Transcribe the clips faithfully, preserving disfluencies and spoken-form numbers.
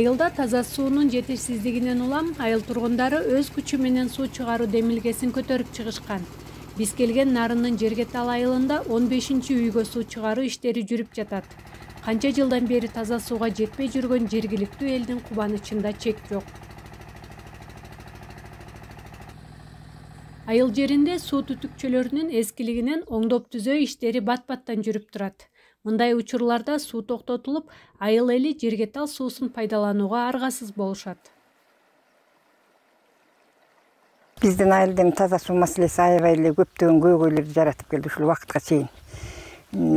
Айылда таза суунун жетишсиздигинен улам айыл тургундары өз күчү менен суу чыгаруу демилгесин көтөрүп чыгышкан. Биз келген Нарындын Жергетал айылында он бешинчи үйгө суу чыгаруу иштери жүрүп жатат. Канча жылдан бери таза сууга жетпей жүргөн жергиликтүү элдин кубанычында чек жок. Айыл жеринде суу түтүкчөлөрүнүн эскилигинен оңдоп түзөө иштери бат-баттан жүрүп турат. Мындай учурларда суу токтотулуп, айыл эли Жергетал суусун пайдаланууга аргасыз болушат. Биздин айылдын таза суу маселеси аябай эле көптөгөн көйгөйлөрдү жаратып келди ушул убакытка чейин.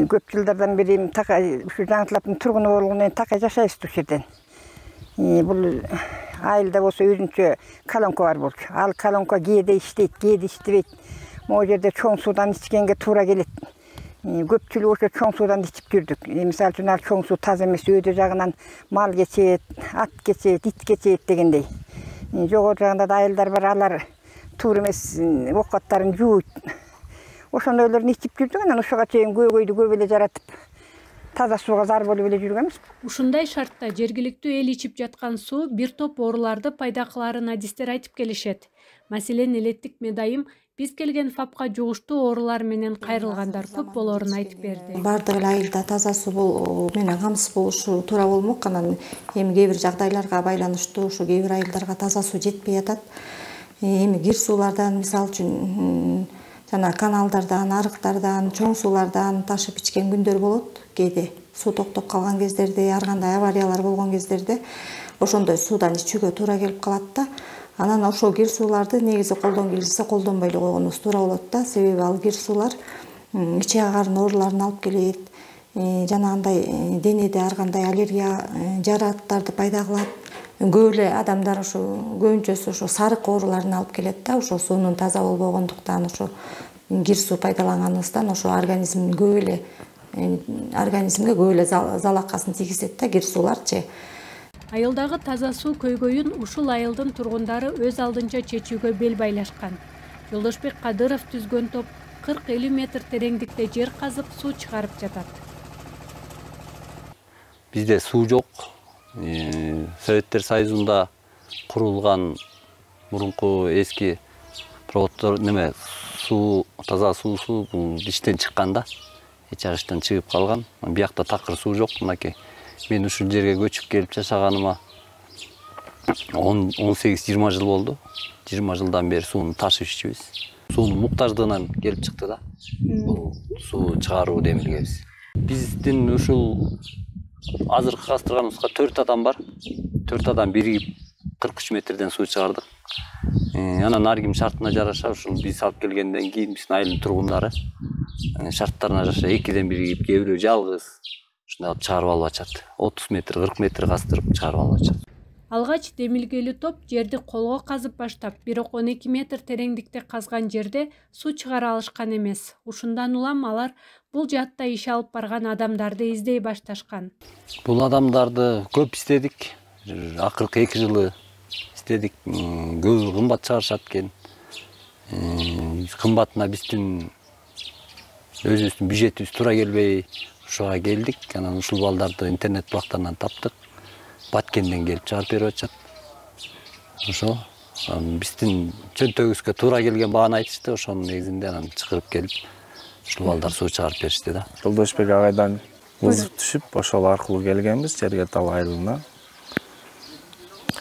Көп жылдардан бери ушу Жаңытылаптын тургуну болгондон кийин такай жашайбыз ушул жерден. Бул айылда болсо өзүнчө колонка бар болчу. Ал колонка кээде иштейт, кээде иштебейт. Могу жерде чоң суудан ичкенге туура келет. Көпчүлүгү ошо чоң суудан ичип жүрдүк. Мисалы үчүн ал чоң суу таза эмес, өйдө жагынан мал кечет, ат кечет, ит кечет дегендей. Жогору жагында да айылдар бар, алар туура эмес оокаттарын жууйт. Ошондойлорун ичип жүрдүк, анан ушуга чейин көйгөйдү көп эле жаратып, таза сууга зар болуп эле жүргөнбүз. Ушундай шартта жергиликтүү эл ичип жаткан суу бир топ ооруларды пайда кыларын адистер айтып келишет. Маселен, элеттик медайым биз келген ФАПка жугуштуу оорулар менен кайрылгандар көп болоорун айтып берди. Бардык эле айылда таза суу менен камсыз болушу туура болмок. Анан эми кээ бир жагдайларга байланыштуу ушу кээ бир айылдарга таза суу жетпей атат. Эми кир суулардан, мисалы үчүн жана каналдардан, арыктардан, чоң суулардан ташып ичкен күндөр болот. Кээде суу токтоп калган кездерде, ар кандай авариялар болгон кездерде ошондой суудан ичүүгө туура келип калат да. Анан ошол кир сууларды негизи колдон келсе колдонбой эле койгонубуз туура болот да. Себеби ал кир суулар ичек агарын ооруларын алып келет. Жана андай денеде ар кандай аллергия жарааттарды пайда кылат. Көп эле адамдар ошо көбүнчөсү ошо сарык ооруларын алып келет да. Ошо суунун таза болбогондуктан, ошо кир суу пайдаланганыбыздан ошо организм көп эле организмге көп эле залакасын тийгизет да кир сууларчы. Айылдагы таза суу көйгөйүн ушул айылдын тургундары өз алдынча чечүүгө бел байлашкан. Жолдошбек Кадыров түзгөн топ кырк элүү метр тереңдикте жер казып суу чыгарып жатат. Бизде суу жок. Советтер Союзунда курулган мурунку эски проводдор неме суу, таза суусу бул иштен чыккан да. Эч жак иштен чыгып калган. Биякта такыр суу жок, мынакей. Мен ушул жерге көчүп келип жашаганыма он сегиз жыйырма жыл болду. жыйырма жылдан бери сууну ташып ичебиз. Суунун муктаждыгынан келип чыкты да. Бул суу чыгаруу демилгебиз. Биздин ушул азыркы кастырганыбызга төрт адам бар. төрт адам биригип кырк үч метрден суу чыгардык. Анан ар ким шартына жараша ушул биз алып келгенден кийин биздин айылдын тургундары шарттарына жараша экиден биригип, кээ бирөө жалгыз ушундай алып чыгарып алып ачат. отуз метр, кырк метр кастырып чыгарып алып ачат. Алгач демилгелүү топ жерди колго казып баштап, бирок он эки метр тереңдикте казган жерде суу чыгара алышкан эмес. Ушундан улам алар бул жаатта иш алып барган адамдарды издей башташкан. Бул адамдарды көп издедик. Акыркы эки жылы издедик. Көбү кымбат чыгарышат экен. Кымбатына биздин өзүбүздүн бюджетибиз туура келбей ушуга келдик. Анан ушул балдарды интернет булактарынан таптык. Баткенден келип чыгарып берип атышат. Ошо биздин чөнтөгүбүзгө туура келген бааны айтышты. Ошонун негизинде анан чакырып келип ушул балдар суу чыгарып беришти да. Жолдошбек агайдан вызов түшүп, ошол аркылуу келгенбиз Жергетал айылына.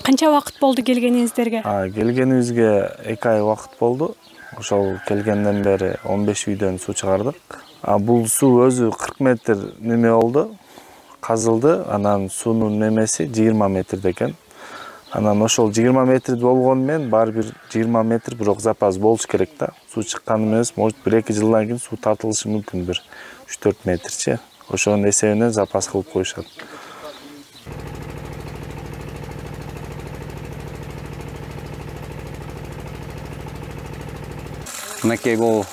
Канча убакыт болду келгениңиздерге? А, келгенибизге эки ай убакыт болду. Ошол келгенден бери он беш үйдөн суу чыгардык. А бул суу өзү кырк метр неме болду, казылды. Анан суунун немеси жыйырма метрде экен. Анан ошол жыйырма метр болгону менен баары бир жыйырма метр бирок запас болуш керек да. Суу чыкканы эмес, может бир эки жылдан кийин суу тартылышы мүмкүн, бир үч төрт метрчи. Ошонун эсебинен запас кылып коюшат. Мынакей бул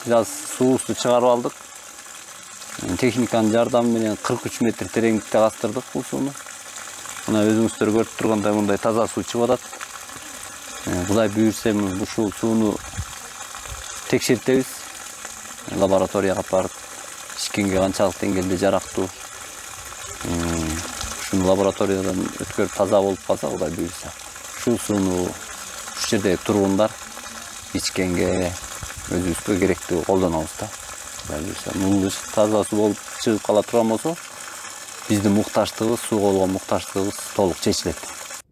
жаз суусу чыгарып алдык. Техниканын жардамы менен кырк үч метр тереңдикте кастырдык бул сууну. Мына өзүңүздөр көрүп тургандай мындай таза суу чыгып атат. Кудай буйрса ушул сууну текшертебиз. Лабораторияга барып ичкенге канчалык деңгээлде жарактуу. ушуну лабораториядан өткөрүп таза болуп калса, Кудай буйруса, ушул сууну ушул жердеги тургундар ичкенге, өзүбүзгө керектүү колдонобуз да. Кудай буйруса, мунду таза суу болуп чыгып кала турган болсо, биздин муктаждыгыбыз, сууга болгон муктаждыгыбыз толук чечилет.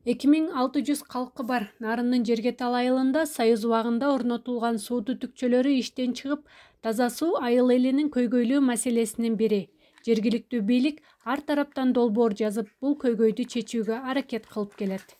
эки миң алты жүз калкы бар Нарындын Жергетал айылында Союз убагында орнотулган суу түтүкчөлөрү иштен чыгып, таза суу айыл элинин көйгөйлүү маселесинин бири. Жергиликтүү бийлик ар тараптан долбоор жазып, бул көйгөйдү чечүүгө аракет кылып келет.